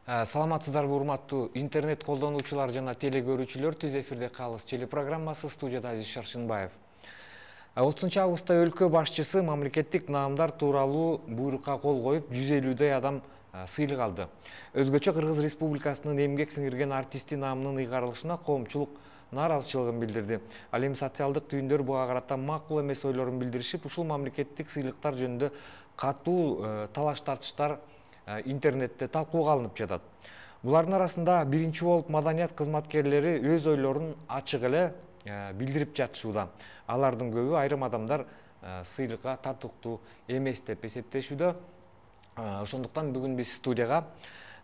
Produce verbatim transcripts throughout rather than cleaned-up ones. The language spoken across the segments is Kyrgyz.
Саламатсыздарбы урматтуу интернет колдонуучулар жана теле көрүүчүлөр, түз эфирде калыс телепрограммасы, студияда Азиз Шаршынбаев. отузунчу августта өлкө башчысы мамлекеттик наамдар тууралуу буйрукка кол коюп, жүз элүүдөй адам сыйлык алды. Өзгөчө Кыргыз Республикасынын эмгек сиңирген артисти наамынын ыйгарылышына коомчулук нааразычылыгын билдирди. Ал эми социалдык түйүндөр буга карата макул эмес ойлорун билдиришип, ушул мамлекеттик сыйлыктар жөнүндө катуу талаш тартыштар интернетте талкууга алынып жатат. Булардын арасында биринчи болуп маданият кызматкерлери өз ойлорун ачык эле билдирип жатышууда. Алардын көбү айрым адамдар сыйлыкка татыктуу эмес деп эсептешүүдө. Ошондуктан бүгүн биз студияга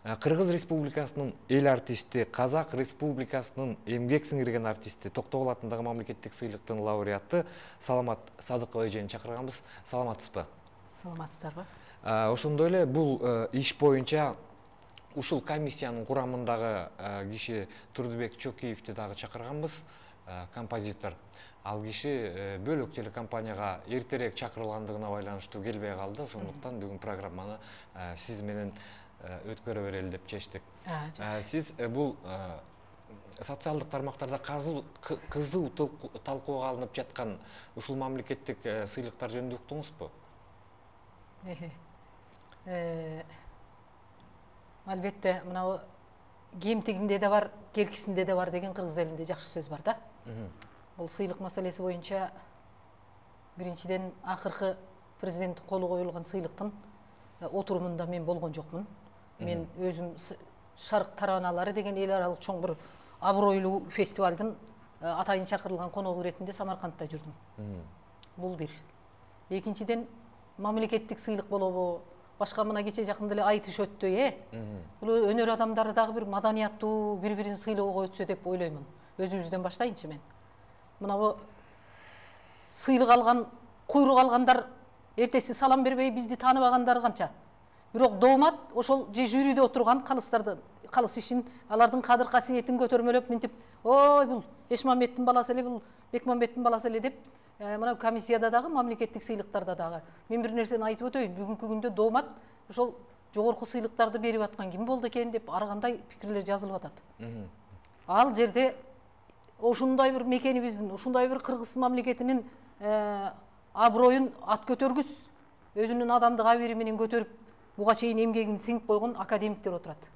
Кыргыз Республикасынын эл артисти, Казак Республикасынын эмгек сиңирген артисти, Токтогул атындагы мамлекеттик сыйлыктын лауреаты Саламат Садыкова эжени чакырганбыз. Саламатсызбы? Саламатсыздарбы? Ошондой эле бул иш боюнча ушул комиссиянын курамындагы киши Турдубек Чокиевди дагы чакырганбыз, композитор. Ал киши бөлөк телекомпанияга эртерээк чакырылгандыгына байланыштуу келбей калды. Ошондуктан бүгүн программаны сиз менен өткөрө берели деп чечтик. Сиз бул социалдык тармактарда кызуу талкууга алынып жаткан ушул мамлекеттик сыйлыктар жөнүндө уктуңузбу? Албетте, мынау кемтигинде де бар, керкисинде де бар деген кыргыз элинде жакшы сөз бар да. Бул сыйлык маселеси боюнча биринчиден акыркы президенттин колу коюлган сыйлыктын отурумунда мен болгон жокмун. Мен өзүм Шарк тараналары деген эл аралык чоң бир абройлуу фестивалдын атайын чакырылган коногу иретинде Самаркандта жүрдүм. Бул бир. Экинчиден мамлекеттик сыйлык болобу, башка мына кече жакында эле айтыш өттү, э? Бул өнөр адамдары дагы бир маданияттуу, бири-бирин сыйлоого өтсө деп ойлоймун. Өзүбүздөн баштайынчы мен. Мына бу сыйлык алган, куйрук алгандар эртеси салам бербей бизди тааныбагандар канча. Бирок доомат ошол же жюриде отурган калыстарды, калыс ишин, алардын кадыр касиетин көтөрмөлөп минтип, ой бул Эшмамбеттин баласы эле, бул Бекмамбеттин баласы эле деп, мына комиссияда дагы, мамлекеттик сыйлыктарда дагы. Мен бир нерсени айтып өтөйүн, бүгүнкү күндө доомат ошол жогорку сыйлыктарды берип аткан ким болду экен деп ар кандай пикирлер жазылып атат. Ал жерде ушундай бир мекенибиздин, ушундай бир кыргыз мамлекетинин аброюн ат көтөргүс, өзүнүн адамдык абийири менен көтөрүп, буга чейин эмгегин сиңип койгон академиктер отурат.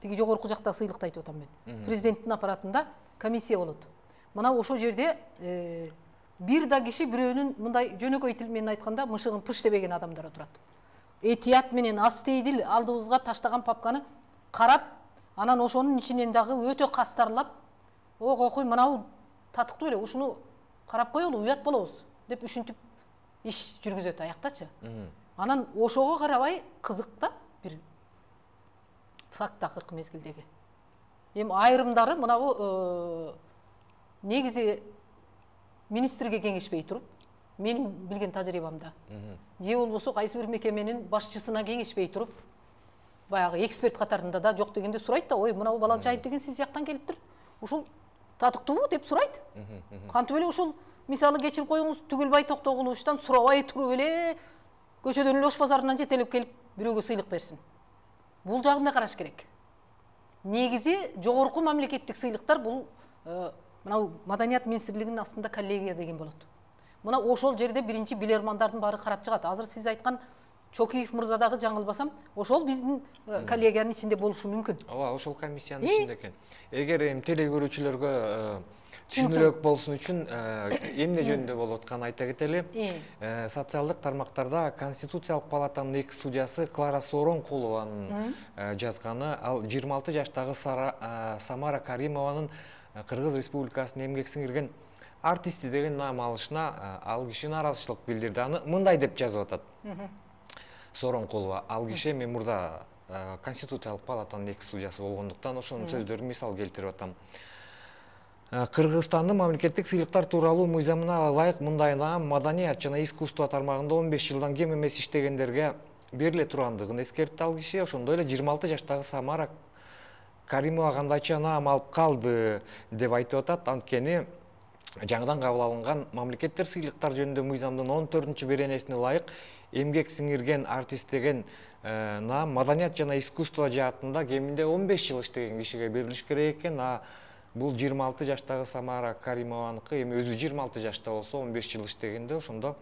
Тиги жогорку жакта сыйлыкты айтып атам мен. Президенттин аппаратында комиссия болот. Мына ошол жерде бир да киши бирөөнүн мындай жөнөкөй тил менен айтканда мышыгын пыш дебеген адамдар отурат. Этият менен астейдил алдыбызга таштаган папканы карап, анан ошонун ичинен дагы өтө кастарлап, о кокуй мынау татыктуу эле, ушуну карап коелу, уят болобуз деп үшүнтүп иш жүргүзөт аяктачы. Анан ошого карабай кызык да бир факт акыркы мезгилдеги. Эми айрымдары мына бу негизи министрге кеңешпей туруп, менин билген тажрыйбамда, же болбосо кайсы бир мекеменин башчысына кеңешпей туруп, баягы эксперт катарында да жок дегенде сурайт да, ой, мына Баланчаев деген сиз жактан келиптир, ушул татыктуубу деп сурайт. Кантип эле ушул мисалы кечирип коюңуз, Түгүлбай Токтогуловичтан сурабай туруп эле көчөдөн эле Ош базарынан жетелеп келип бирөөгө сыйлык берсин. Бул жагында караш керек. Негизи жогорку мамлекеттик сыйлыктар бул мына маданият министрлигинин астында коллегия деген болот. Мына ошол жерде биринчи билермандардын баары карап чыгат. Азыр сиз айткан Чокиев мырза дагы жаңылбасам, ошол биздин коллегиянын ичинде болушу мүмкүн. Ооба, ошол комиссиянын ичинде экен. Эгер эми теле көрүүчүлөргө түшүнүрөөк болсун үчүн эмне жөнүндө болуп атканын айта кетели. Социалдык тармактарда Конституциялык палатанын эки судьясы Клара Сооронкулованын жазганы, ал жыйырма алты жаштагы Самара Каримованын Кыргыз Республикасынын эмгек сиңирген артисти деген наам алышына ал киши нааразычылык билдирди. Аны мындай деп жазып атат. Сооронкулова, ал киши эми мурда Конституциялык палатанын эки судьясы болгондуктан ошонун сөздөрүн мисал келтирип атам. Кыргызстандын мамлекеттик сыйлыктар тууралуу мыйзамына ылайык мындай наам маданият жана искусство тармагында он беш жылдан кем эмес иштегендерге бериле тургандыгын эскертти ал киши. Ошондой эле жыйырма алты жаштагы Самара Каримова кандайча наам алып калды деп айтып атат. Анткени жаңыдан кабыл алынган мамлекеттер сыйлыктар жөнүндө мыйзамдын он төртүнчү беренесине ылайык эмгек сиңирген артист деген наам маданият жана искусство жаатында кеминде он беш жыл иштеген кишиге берилиш керек экен. А бул жыйырма алты жаштагы Самара Каримованыкы, эми өзү жыйырма алты жашта болсо он беш жыл иштегенде ошондо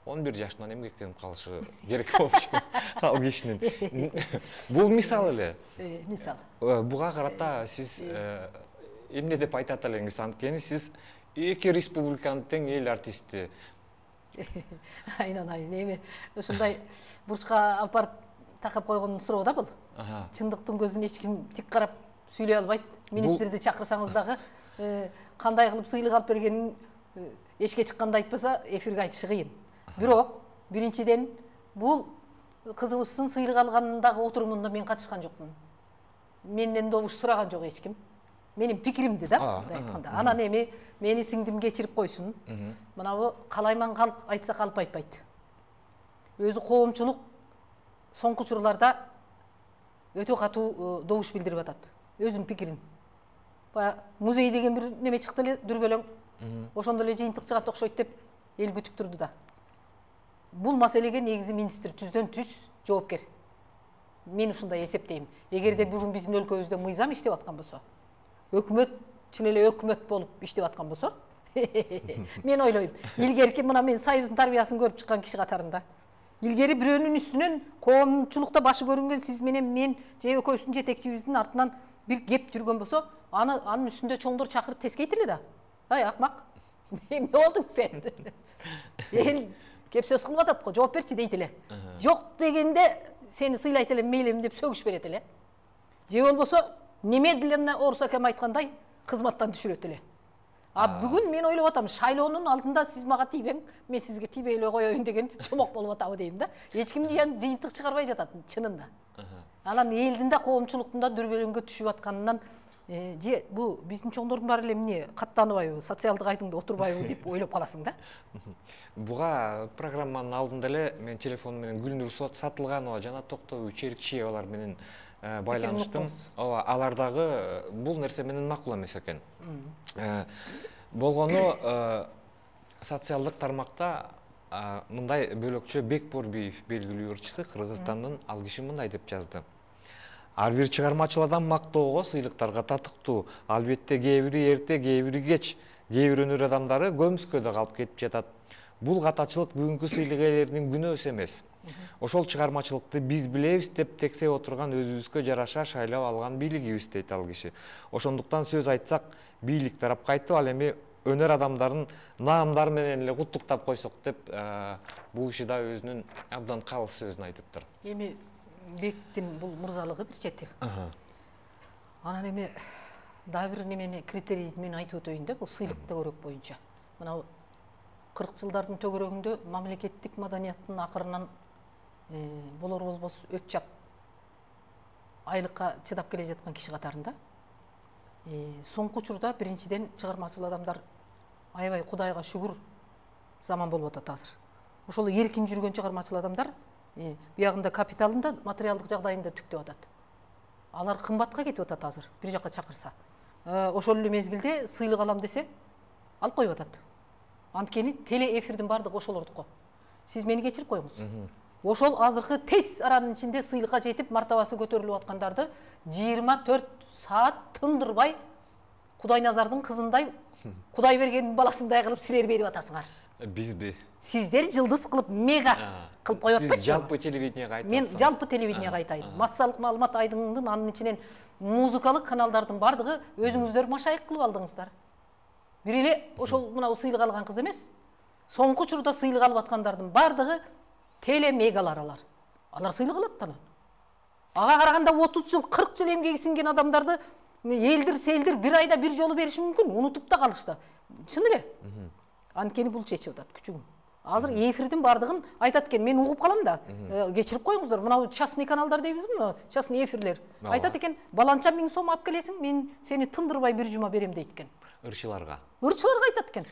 он бир жашынан эмгектенип калышы керек болчу ал кишинин. Бул мисал эле. Мисал. Буга карата сиз эмне деп айтат элеңиз? Анткени сиз эки республиканын тең эл артисти. Айнан айын эми ушундай бурчка алып барып такап койгон суроо да бул. Чындыктын көзүн эч ким тик карап сүйлөй албайт. Министрди чакырсаңыз дагы кандай кылып сыйлык алып бергенин эшикке чыкканда айтпаса эфирге айтышы кыйын. Бирок биринчиден бул кызыбыздын сыйлык алганындагы отурумунда мен катышкан жокмун. Менден добуш сураган жок эч ким. Менин пикиримди да мындай айтканда. Анан эми мени сиңдим кечирип койсун. Мынабу калайман калк айтса калп айтпайт. Өзү коомчулук соңку учурларда өтө катуу добуш билдирип атат. Өзүнүн пикирин. Баягы музей деген бир неме чыкты эле дүрбөлөң. Ошондо эле жыйынтык чыгат окшойт деп эл күтүп турду да. Бул маселеге негизи министр түздөн түз жоопкер. Мен ушундай эсептейм. Эгерде бүгүн биздин өлкөбүздө мыйзам иштеп аткан болсо, өкмөт чын эле өкмөт болуп иштеп аткан болсо, мен ойлойм, илгерки мына мен Союздун тарбиясын көрүп чыккан киши катарында. Илгери бирөөнүн үстүнөн коомчулукта башы көрүнгөн сиз менен мен же экөөбүздүн жетекчибиздин артынан бир кеп жүргөн болсо, аны анын үстүндө чоңдор чакырып тескейт эле да. Ай акмак, эмне болдуң сен? Эл кеп сөз кылып атат го, жооп берчи дейт эле. Жок дегенде сени сыйлайт эле, мейлим деп сөгүш берет эле. Же болбосо немедленно Орус акем айткандай кызматтан түшүрөт эле. А бүгүн мен ойлоп атам, шайлоонун алдында сиз мага тийбең, мен сизге тийбей эле коеюн деген чомок болуп атабы дейм да. Эч ким жыйынтык чыгарбай жатат чынында. Анан элдин да коомчулуктун да дүрбөлөңгө түшүп атканынан же бу биздин чоңдордун баары эле эмне каттанбайбы, социалдык айдыңда отурбайбы деп ойлоп каласың да. Буга программанын алдында эле мен телефон менен Гүлнур Сатылганова жана Токтогул Черикчиевалар менен байланыштым. Ооба, алар дагы бул нерсе менен макул эмес экен. Болгону социалдык тармакта мындай бөлөкчө Бекборбиев белгилүү ырчысы Кыргызстандын, ал киши мындай деп жазды. Ар бир чыгармачыл адам мактоого, сыйлыктарга татыктуу. Албетте кээ бири эрте, кээ бири кеч, кээ бир өнөр адамдары көмүскөдө калып кетип жатат. Бул катачылык бүгүнкү сыйлык ээлеринин күнөөсү эмес. Ошол чыгармачылыкты биз билебиз деп тексе отурган өзүбүзгө жараша шайлап алган бийлигибиз дейт ал киши. Ошондуктан сөз айтсак, бийлик тарап кайтып, ал эми өнөр адамдарын наамдары менен эле куттуктап койсок деп, бул киши да өзүнүн абдан калыс сөзүн айтыптыр. Эми Бектин бул мырзалыгы бир чети. Анан эми дагы бир немени критерийди мен айтып өтөйүн да, бул сыйлык төгөрөк боюнча. Мына кырк жылдардын төгөрөгүндө мамлекеттик маданияттын акырынан болор болбос өп чап айлыкка чыдап келе жаткан киши катарында. Соңку учурда биринчиден чыгармачыл адамдар аябай Кудайга шүгүр заман болуп атат азыр. Ошол эркин жүргөн чыгармачыл адамдар биягында капиталында, материалдык жагдайында түктөп атат. Алар кымбатка кетип атат азыр, бир жака чакырса. Ошол эле мезгилде сыйлык алам десе, алып коюп атат. Анткени теле эфирдин бардыгы ошолордуку. Сиз мени кечирип коюңуз. Ошол азыркы тез аранын ичинде сыйлыкка жетип, мартабасы көтөрүлүп аткандарды жыйырма төрт саат тындырбай Кудайназардын кызындай, Кудай бергендин баласындай кылып силер берип атасыңар. Бизби? Сиздер жылдыз кылып мега кылып коюп атпайсызбы? Сиз жалпы телевидениеге айтып Мен жалпы телевидениеге айтайын. Массалык маалымат айдыңдын анын ичинен музыкалык каналдардын бардыгы өзүңүздөр машайык кылып алдыңыздар. Бир эле ошол мына сыйлык алган кыз эмес. Соңку учурда сыйлык алып аткандардын бардыгы телемегалар алар. Алар сыйлык алат анан. Ага караганда отуз жыл, кырк жыл эмгеги сиңген адамдарды элдир селдир бир айда бир жолу бериши мүмкүн, унутуп да калышты. Чын эле. Анткени бул чечип атат күчүгүн. Азыр эфирдин бардыгын айтат экен, мен угуп калам да. Кечирип коюңуздар, мына частный каналдар дейбизби, мына частный эфирлер. Айтат экен, баланча миң сом алып келесиң, мен сени тындырбай бир жума берем дейт экен. Ырчыларга. Ырчыларга айтат экен.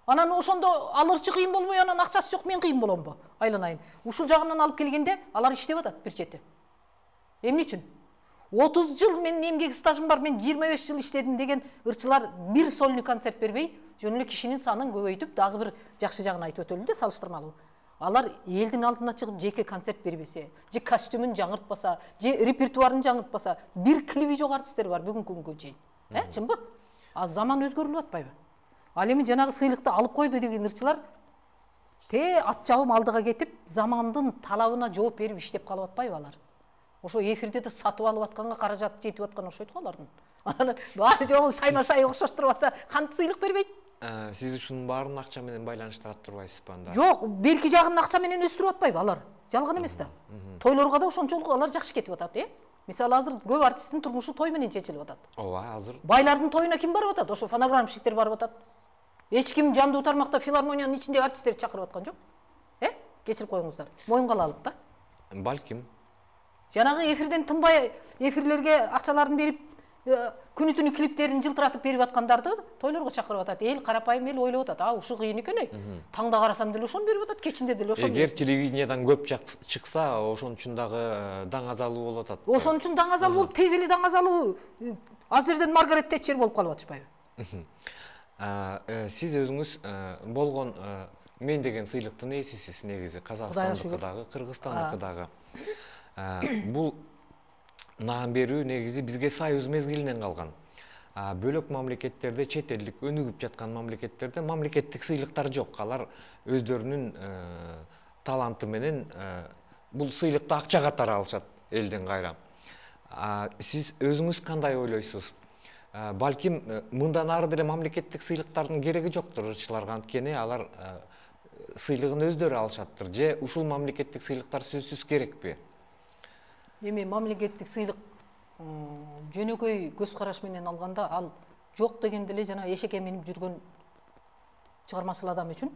Анан ошондо ал ырчы кыйын болбой, анан акчасы жок, мен кыйын боломбу? Айланайын. Ушул жагынан алып келгенде алар иштеп атат бир чети. Эмне үчүн? отуз жыл менин эмгек стажым бар, мен жыйырма беш жыл иштедим деген ырчылар бир сольный концерт бербей, жөн эле кишинин санын көбөйтүп, дагы бир жакшы жагын айтып өтөлү да, салыштырмалуу. Алар элдин алдына чыгып жеке концерт бербесе, же костюмун жаңыртпаса, же репертуарын жаңыртпаса, бир клиби жок артисттер бар бүгүнкү күнгө чейин. Э, чынбы? А заман өзгөрүлүп атпайбы? Ал эми жанагы сыйлыкты алып койду деген ырчылар те ат жабым алдыга кетип, замандын талабына жооп берип иштеп калып атпайбы алар? Ошо эфирде да сатып алып атканга каражат жетип аткан окшойт го алардын. Анан баары жолу шайма-шай окшоштуруп атса, кантип сыйлык бербейт? Сиз ушунун баарын акча менен байланыштырат турбайсызбы анда? Жок, берки жагын акча менен өстүрүп атпайбы алар? Жалган эмес да. Тойлорго да ошончолук алар жакшы кетип атат, э? Мисалы, азыр көп артисттин турмушу той менен чечилип атат. Ооба, азыр. Байлардын тоюна ким барып атат? Ошо фонограммщиктер барып атат. Эч ким жандуу тармакта филармониянын ичиндеги артисттерди чакырып аткан жок. Э? Кечирип коюңуздар. Моюнга алалык да. Балким. Жанагы эфирден тынбай эфирлерге акчаларын берип, күнү түнү клиптерин жылтыратып берип аткандарды тойлорго чакырып атат. Эл карапайым эл ойлоп атат. А, ушу кыйын экен-ей. Таңда карасам деле ошону берип атат, кечинде деле ошону. Эгер телевидениядан көп чыкса, ошон үчүн дагы даңазалуу болуп атат. Ошон үчүн даңазалуу болуп, тез эле даңазалуу. Az жерден Маргарет Тэтчер болуп калып атышпайбы? Сиз өзүңүз болгон мен деген сыйлыктын ээсисиз негизи, Казакстандыкы дагы, Кыргызстандыкы дагы. Бул наам берүү негизи бизге Союз мезгилинен калган. Бөлөк мамлекеттерде, чет элдик өнүгүп жаткан мамлекеттерде мамлекеттик сыйлыктар жок. Алар өздөрүнүн таланты менен бул сыйлыкты акча катары алышат элден кайра. Сиз өзүңүз кандай ойлойсуз? Балким мындан ары деле мамлекеттик сыйлыктардын кереги жоктур ырчыларга, анткени алар сыйлыгын өздөрү алышаттыр. Же ушул мамлекеттик сыйлыктар сөзсүз керекпи? Эми мамлекеттик сыйлык жөнөкөй көз караш менен алганда ал жок дегенде эле жана эшекке минип жүргөн чыгармачыл адам үчүн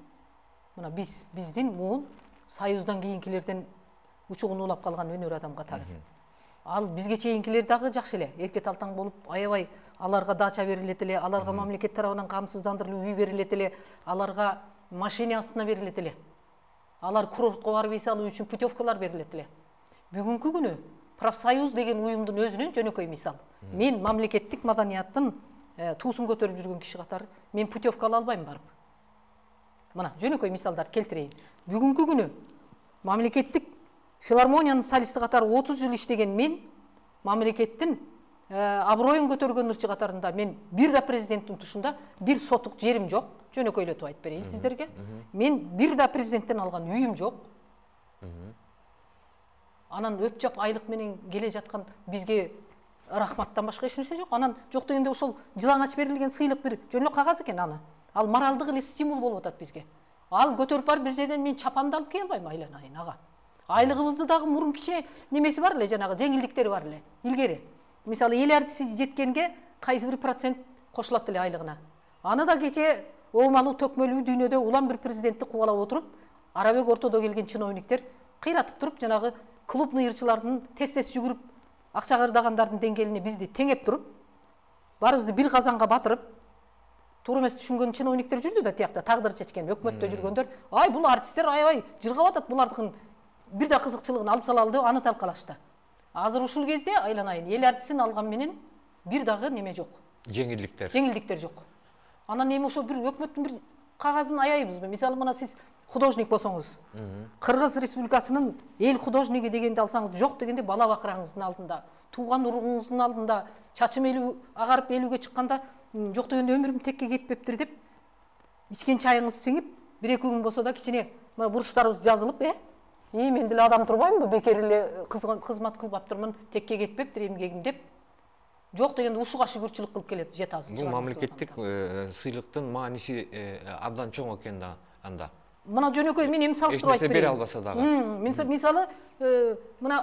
мына биз биздин муун Союздан кийинкилерден учугун улап калган өнөр адам катары. Ал бизге чейинкилер дагы жакшы эле, эрке талтаң болуп, аябай аларга дача берилет эле, аларга мамлекет тарабынан камсыздандырылып үй берилет эле, аларга машина астына берилет эле. Алар курортко барып эс алуу үчүн путевкалар берилет эле. Бүгүнкү күнү профсоюз деген уюмдун өзүнөн жөнөкөй мисал. Мен мамлекеттик маданияттын туусун көтөрүп жүргөн киши катары мен путевка ала албайм барып. Мына жөнөкөй мисалдарды келтирейин. Бүгүнкү күнү мамлекеттик филармониянын солисти катары отуз жыл иштеген мен мамлекеттин аброюн көтөргөн ырчы катарында мен бир да президенттин тушунда бир сотук жерим жок. Жөнөкөйлөтүп айтып берейин сиздерге. Мен бир да президенттен алган үйүм жок. Анан өп-жап айлык менен келе жаткан бизге рахматтан башка эч нерсе жок. Анан жок дегенде ошол жылаңач берилген сыйлык бир жөн эле кагаз экен аны. Ал моралдык эле стимул болуп атат бизге. Ал көтөрүп барып бир жерден мен чапанды алып кел албайм айланайын ага. Айлыгыбызды дагы мурун кичине немеси бар эле, жанагы жеңилдиктери бар эле. Илгери. Мисалы эл артиси жеткенге кайсы бир процент кошулат эле айлыгына. Аны да кече оомалуу төкмөлүү дүйнөдө улам бир президентти кубалап отуруп, арабек ортодо келген чиновниктер кыйратып туруп, жанагы клубный ырчылардын тез-тез жүгүрүп акча кырдагандардын деңгээлине бизди теңеп туруп, баарыбызды бир казанга батырып, туура эмес түшүнгөн чиновниктер жүрдү да тиякта, тагдыр чечкен өкмөттө жүргөндөр, ай бул артисттер аябай жыргап атат, булардыкын бир да кызыкчылыгын алып салалы деп аны талкалашты. Азыр ушул кезде айланайын, эл артисин алган менен бир дагы неме жок. Жеңилдиктер. Жеңилдиктер жок. Анан эми ошо бир өкмөттүн бир кагазын аябызбы? Мисалы мына сиз художник болсоңуз, Кыргыз Республикасынын эл художниги дегенди алсаңыз, жок дегенде бала бакыраңыздын алдында, тууган уругуңуздун алдында, чачым элүү агарып элүүгө чыкканда, жок дегенде өмүрүм текке кетпептир деп, ичкен чайыңыз сиңип, бир эки күн болсо да кичине мына бурчтарыбыз жазылып, э? И мен деле адам турбаймынбы, бекер эле кызмат кылып аптырмын, текке кетпептир эмгегим деп, жок дегенде ушуга шүгүрчүлүк кылып келет жетабыз. Бул мамлекеттик сыйлыктын мааниси абдан чоң экен да анда. Мына жөнөкөй мен эми салыштырып айтып бере албаса дагы. Мисалы, мына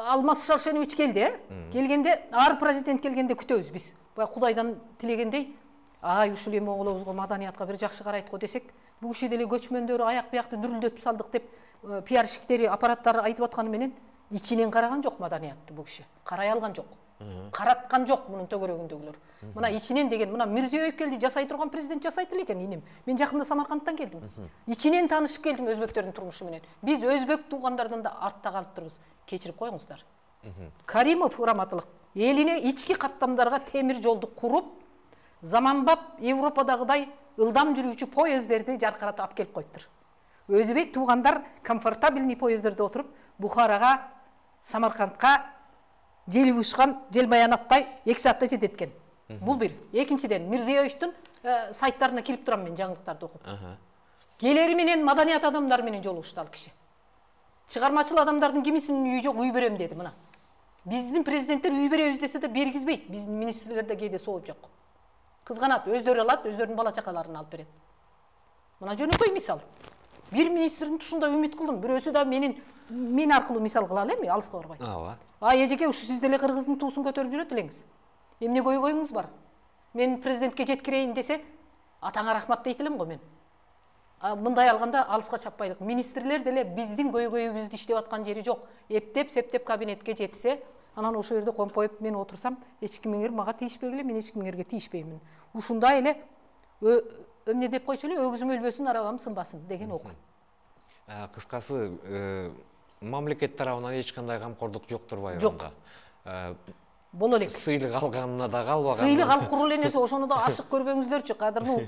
Алмаз Шаршенович келди, келгенде, ар президент келгенде күтөбүз биз. Бай Кудайдан тилегендей, ай ушул эми оголобузга маданиятка бир жакшы карайт го десек, бул киши деле көчмөндөр аяк биякты дүрүлдөтүп салдык деп пиарщиктери, аппараттары айтып атканы менен ичинен караган жок маданиятты бул киши. Карай алган жок. Караткан жок мунун төгөрөгүндөгүлөр. Мына ичинен деген, мына Мирзиёев келди, жасай турган президент жасайт эле экен инем. Мен жакында Самаркандтан келдим. Ичинен таанышып келдим өзбектөрдүн турмушу менен. Биз өзбек туугандардан да артта калып турбуз. Кечирип коюңуздар. Каримов Ураматылык элине ички каттамдарга темир жолду куруп, заманбап Европадагыдай ылдам жүрүүчү поездерди жаркыратып алып келип коюптур. Өзбек туугандар комфортабельный поездерде отуруп, Бухарага, Самаркандка жел ушкан, жел баянаттай эки саатта жетет экен. Бул бир. Экинчиден, Мирзиёевичтин сайттарына кирип турам мен жаңылыктарды окуп. Келери менен маданият адамдары менен жолугушту ал киши. Чыгармачыл адамдардын кимисинин үйү жок, үй берем деди мына. Биздин президенттер үй беребиз десе да бергизбейт. Биздин министрлерде кээде сооп жок. Кызганат, өздөрү алат, өздөрүнүн бала чакаларын алып берет. Мына жөнөкөй мисал. Бир министрдин тушунда үмүт кылдым. Бирөөсү да менин мен аркылуу мисал кыла алам, алыска барбай. Ооба. А эжеке, ушу сиз деле кыргыздын туусун көтөрүп жүрөт элеңиз. Эмне көйгөйүңүз бар? Мен президентке жеткирейин десе, атаңа рахмат дейт элем го мен. Мындай алганда алыска чаппайлык. Министрлер деле биздин көйгөйүбүздү иштеп аткан жери жок. Эптеп, септеп кабинетке жетсе, анан ошол жерде компоюп мен отурсам, эч кимиңер мага тийишпегиле, мен эч кимиңерге тийишпеймин. Ушундай эле эмне деп койчу эле, өгүзүм өлбөсүн, арабам сынбасын деген окут. Кыскасы, мамлекет тарабынан эч кандай камкордук жок турбайбы? Жок. Боло элек. Сыйлык алганына да калбаган. Сыйлык алып курул эле нерсе, ошону да ашык көрбөңүздөрчү, кадырлуу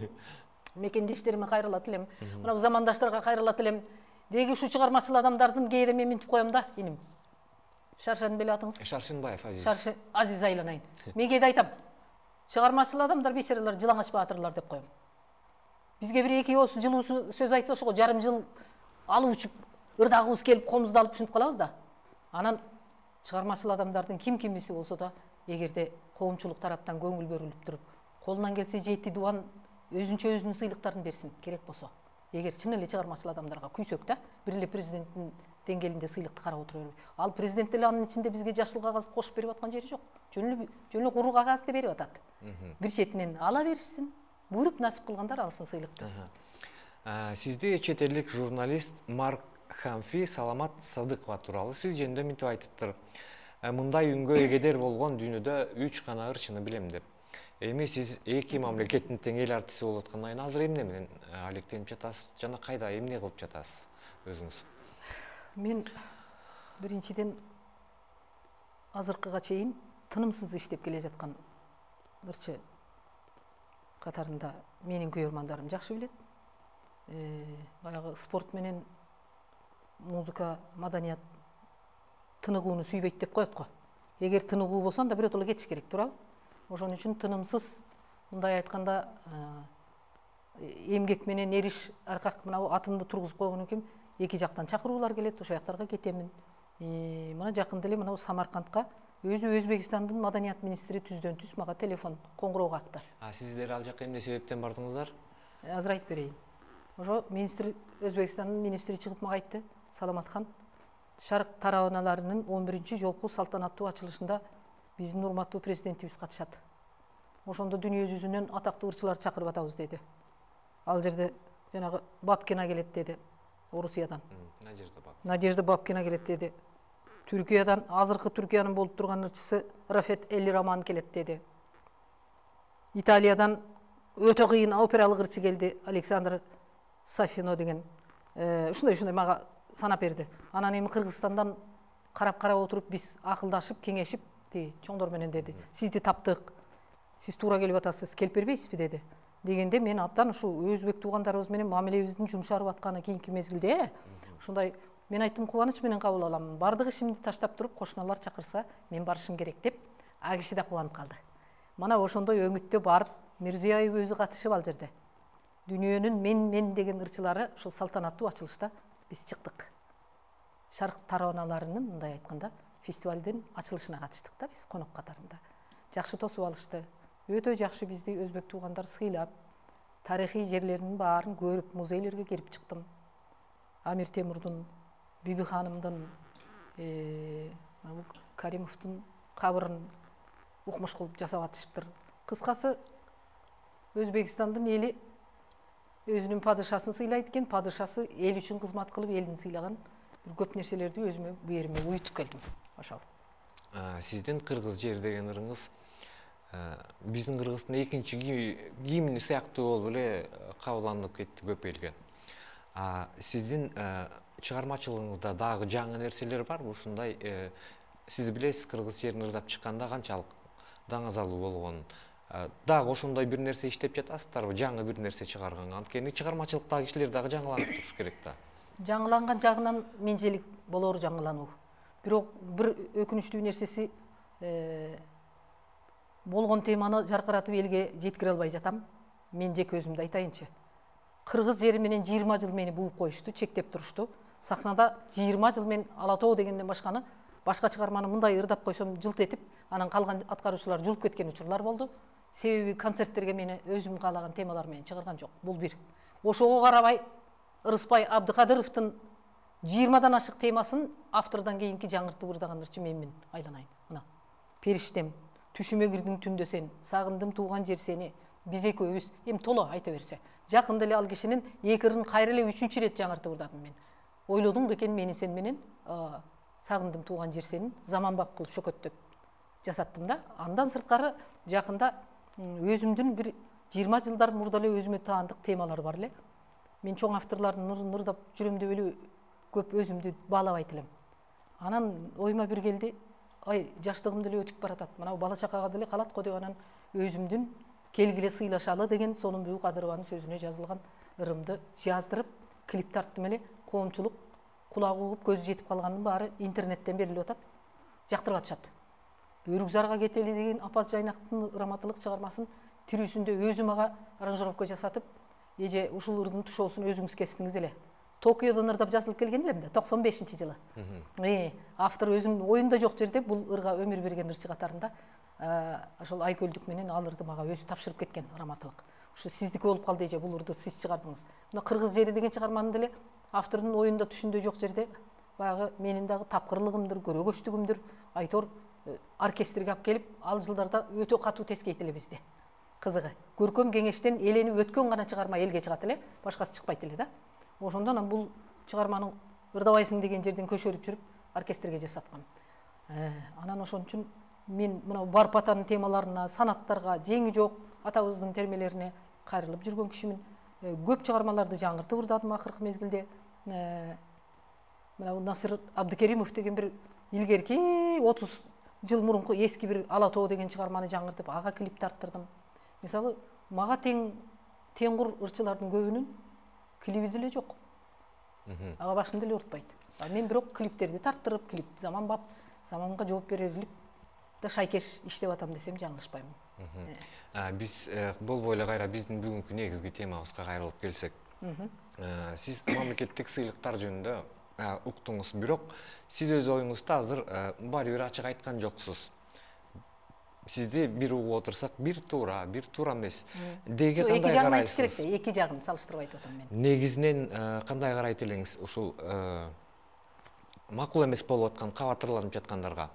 мекендештериме кайрылат элем. Мына замандаштарга кайрылат элем. Деги ушу чыгармачыл адамдардын кээде мен минтип коем да, иним. Шаршан беле атыңыз? Шаршынбаев Азиз. Шаршы Азиз айланайын. Мен кээде айтам. Чыгармачыл адамдар бечаралар жылаңач баатырлар деп коем. Бизге бир эки ооз жылуу сөз айтса, ошого жарым жыл алып учуп, ырдагыбыз келип, комузду алып түшүнүп калабыз да. Анан чыгармачыл адамдардын ким кимиси болсо да, эгерде коомчулук тараптан көңүл бөлүнүп туруп, колунан келсе жети дубан өзүнчө өзүнүн сыйлыктарын берсин, керек болсо. Эгер чын эле чыгармачыл адамдарга күйсөк да, бир эле президенттин деңгээлинде сыйлыкты карап отура бербей. Ал президент деле анын ичинде бизге жашыл кагаз кошуп берип аткан жери жок. Жөн эле жөн эле куру кагазды берип атат. Бир четинен ала беришсин, буйруп насип кылгандар алсын сыйлыкты. Сизди чет элдик журналист Марк Хамфи Саламат Садыкова тууралуу сөз жөнүндө мынтип айтыптыр. Мындай үнгө эгедер болгон дүйнөдө үч гана ырчыны билем деп. Эми сиз эки мамлекеттин тең эл артиси болуп аткандан кийин азыр эмне менен алектенип жатасыз жана кайда эмне кылып жатасыз өзүңүз? Мен биринчиден азыркыга чейин тынымсыз иштеп келе жаткан ырчы катарында менин көрөрмандарым жакшы билет. Баягы спорт менен музыка, маданият тыныгууну сүйбөйт деп коет го. Эгер тыныгуу болсо анда биротоло кетиш керек, туурабы? Ошон үчүн тынымсыз, мындай айтканда, эмгек менен эриш аркак мына атымды тургузуп койгон экем, эки жактан чакыруулар келет, ошол жактарга кетемин. Мына жакында эле мына Самаркандка өзү Өзбекстандын маданият министри түздөн түз мага телефон коңгуроо какты. А сиздер ал жака эмне себептен бардыңыздар? Азыр айтып берейин. Ошо министр Өзбекстандын министри чыгып мага айтты: Саламатхан, Шарк тарабаналарынын он биринчи жолку салтанаттуу ачылышында биздин урматтуу президентибиз катышат. Ошондо дүйнө жүзүнөн атактуу ырчылар чакырып атабыз деди. Ал жерде жанагы Бабкина келет деди, Орусиядан. Надежда Бабкина келет деди. Түркиядан, азыркы Түркиянын болуп турган ырчысы Рафет Элли Роман келет деди. Италиядан өтө кыйын опералык ырчы келди, Александр Сафино деген. Ушундай-ушундай мага санап берди. Анан эми Кыргызстандан карап-карап отуруп биз акылдашып, кеңешип, чоңдор менен деди. Сизди таптык. Сиз туура келип атасыз, келип бербейсизби деди. Дегенде мен абдан ушу өзбек туугандарыбыз менен мамилебиздин жумшарып атканы кийинки мезгилде ушундай мен айттым, кубаныч менен кабыл алам. Бардык ишимди таштап туруп, кошуналар чакырса, мен барышым керек деп, а киши да кубанып калды. Мана ошондой өңүттө барып, Мирзиёев өзү катышып ал жерде. Дүйнөнүн мен-мен деген ырчылары ушул салтанаттуу ачылышта биз чыктык. Шарк тараналарынын, мындай айтканда, фестивалдын ачылышына катыштык да биз конок катарында. Жакшы тосуп алышты. Өтө жакшы бизди өзбек туугандар сыйлап, тарыхый жерлеринин баарын көрүп, музейлерге кирип чыктым. Амир Темурдун, Биби ханымдын, Каримовдун кабырын укмуш кылып жасап атышыптыр. Кыскасы, Өзбекстандын эли өзүнүн падышасын сыйлайт экен, падышасы эл үчүн кызмат кылып, элин сыйлаган бир көп нерселерди өзүмө бу жериме уютуп келдим. Ошол. Сиздин кыргыз жер деген ырыңыз биздин Кыргыздын экинчи гимни сыяктуу болуп эле кабылданып кетти көп элге. Сиздин чыгармачылыгыңызда дагы жаңы нерселер барбы? Ушундай сиз билесиз, кыргыз жерин ырдап чыкканда канчалык даңазалуу болгонун. Дагы ошондой бир нерсе иштеп жатасыздарбы? Жаңы бир нерсе чыгарганга. Анткени чыгармачылыктагы кишилер дагы жаңыланып туруш керек да. Жаңыланган жагынан менчелик болор жаңылануу. Бирок бир өкүнүчтүү нерсеси болгон теманы жаркыратып элге жеткире албай жатам. Мен жеке өзүмдү айтайынчы. Кыргыз жери менен жыйырма жыл мени бууп коюшту, чектеп турушту. Сахнада жыйырма жыл мен Ала тоо дегенден башканы, башка чыгарманы мындай ырдап койсом жылт этип, анан калган аткаруучулар жулуп кеткен учурлар болду. Себеби концерттерге мени өзүм каалаган темалар менен чыгарган жок. Бул бир. Ошого карабай Ырыспай Абдыкадыровдун жыйырмадан ашык темасын автордон кийинки жаңыртып ырдаган ырчы менмин, айланайын. Мына. Периштем, түшүмө кирдиң түндө сен, сагындым тууган жер сени, биз экөөбүз, эми толо айта берсе. Жакында эле ал кишинин эки ырын кайра эле үчүнчү ирет жаңыртып ырдадым мен. Ойлодуң бекен мени сен менен сагындым тууган жер сени заманбап кылып шөкөттөп жасаттым да. Андан сырткары жакында өзүмдүн бир жыйырма жылдар мурда эле өзүмө таандык темалар бар эле. Мен чоң авторлордун ырын ырдап жүрөм деп эле көп өзүмдү баалабайт элем. Анан оюма бир келди, ай жаштыгым деле өтүп баратат. Мына бала чакага деле калат го деп анан өзүмдүн келгиле сыйлашалы деген Сонунбүй Кадырованын сөзүнө жазылган ырымды жаздырып, клип тарттым эле. Коомчулук кулагы угуп көзү жетип калганын баары интернеттен берилип атат. Жактырып атышат. Өрүкзарга кетели деген Апаз Жайнактын раматылык чыгармасын тирүүсүндө өзүм ага аранжировка жасатып, эже ушул ырдын тушоосун өзүңүз кестиңиз эле. Токиодон ырдап жазылып келген элем да, токсон бешинчи жылы. Э, автор өзүнүн оюнда жок жерде бул ырга өмүр берген ырчы катарында ошол Айкөлдүк менен ал ырды мага өзү тапшырып кеткен раматылык. Ушу сиздики болуп калды эже, бул ырды сиз чыгардыңыз. Мына Кыргыз жери деген чыгарманы деле автордун оюнда түшүндө жок жерде баягы менин дагы тапкырлыгымдыр, көрөгөчтүгүмдүр, айтор оркестрге алып келип, ал жылдарда өтө катуу тескейт эле бизде. Кызыгы, көркөм кеңештен эленип өткөн гана чыгарма элге чыгат эле, башкасы чыкпайт эле да. Ошондон анан бул чыгарманы ырдабайсың деген жерден көшөрүп жүрүп оркестрге жасаткам. Анан ошон үчүн мен мына Барып атанын темаларына, санаттарга, жеңи жок атабыздын термелерине кайрылып жүргөн кишимин. Көп чыгармаларды жаңыртып ырдадым акыркы мезгилде. Мына Насыр Абдыкеримов деген бир илгерки отуз жыл мурунку эски бир Ала тоо деген чыгарманы жаңыртып, ага клип тарттырдым. Мисалы, мага тең теңгур ырчылардын көбүнүн клиби деле жок. Ага башын деле уртпайт. Мен бирок клиптерди тарттырып, клип заманбап, заманга жооп берерлик да шайкеш иштеп атам десем жаңылышпаймын. Биз болбой эле кайра биздин бүгүнкү негизги темабызга кайрылып келсек. Сиз мамлекеттик сыйлыктар жөнүндө уктуңуз, бирок сиз өз оюңузду азыр баары бир ачык айткан жоксуз. Сизди бир угуп отурсак, бир туура, бир туура эмес. Деги кандай карайсыз? Эки жагын салыштырып айтып атам мен. Негизинен кандай карайт элеңиз ушул макул эмес болуп аткан кабатырланып жаткандарга?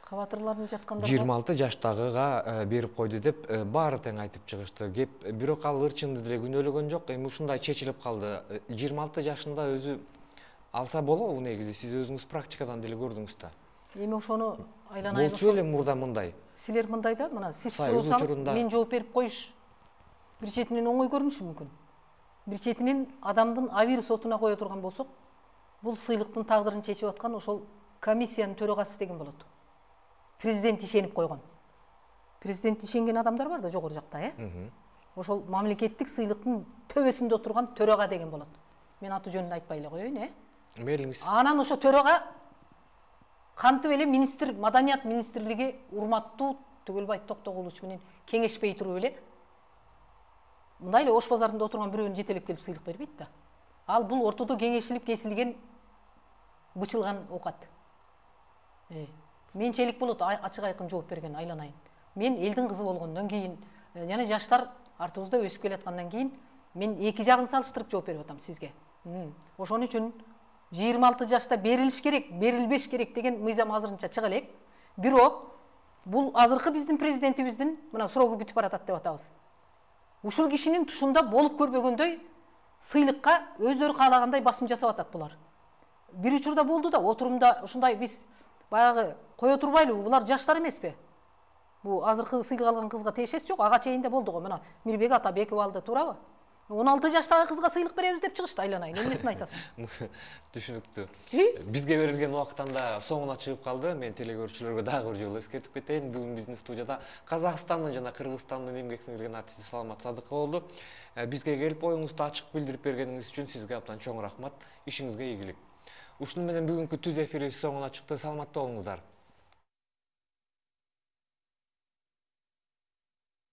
Кабатырланып жаткандарга жыйырма алты жаштагыга берип койду деп баары тең айтып чыгышты. Кеп бирок ал ырчыңды деле күнөөлөгөн жок. Эми ушундай чечилип калды. жыйырма алты жашында өзү алса болобу негизи? Сиз өзүңүз практикадан деле көрдүңүз да. Эми ошону айланайын. Болчу эле мурда мындай. Силер мындай да, мына сиз суроосаңыз мен жооп берип коюш бир четинен оңой көрүнүшү мүмкүн. Бир четинен адамдын абийир сотуна кое турган болсок, бул сыйлыктын тагдырын чечип аткан ошол комиссиянын төрагасы деген болот. Президент ишенип койгон. Президент ишенген адамдар бар да жогору жакта, э? Ошол мамлекеттик сыйлыктын төбөсүндө отурган төрага деген болот. Мен аты жөнүн айтпай эле коеюн, э? Мейлиңиз. Анан ошо төрага кантип эле министр, маданият министрлиги урматтуу Түгөлбай Токтогулович менен кеңешпей туруп эле мындай эле Ош базарында отурган бирөөнү жетелеп келип сыйлык бербейт да. Ал бул ортодо кеңешилип кесилген бычылган оокат. Э, менчелик болот, ачык айкын жооп берген айланайын. Мен элдин кызы болгондон кийин, жана жаштар артыбызда өсүп келаткандан кийин мен эки жагын салыштырып жооп берип атам сизге. Ошон үчүн жыйырма алты жашта берилиш керек, берилбеш керек деген мыйзам азырынча чыга элек. Бирок бул азыркы биздин президентибиздин мына срогу бүтүп баратат деп атабыз. Ушул кишинин тушунда болуп көрбөгөндөй сыйлыкка өздөрү каалагандай басым жасап атат булар. Бир учурда болду да, отурумда ушундай биз баягы кое турбайлыбы, булар жаштар эмеспи? Бу азыркы сыйлык алган кызга тиешеси жок, ага чейин да болду го. Мына Мирбек Атабеков алды, туурабы? он алты жаштагы кызга сыйлык беребиз деп чыгышты, айланайын. Эмнесин айтасың? Түшүнүктүү. И? Бизге берилген убактан да соңуна чыгып калды. Мен телекөрүүчүлөргө дагы бир жолу эскертип кетейин. Бүгүн биздин студияда Казакстандын жана Кыргызстандын эмгек сиңирген артисти Саламат Садыкова болду. Бизге келип оюңузду ачык билдирип бергениңиз үчүн сизге абдан чоң рахмат. Ишиңизге ийгилик. Ушуну менен бүгүнкү түз эфири соңуна чыкты. Саламатта болуңуздар.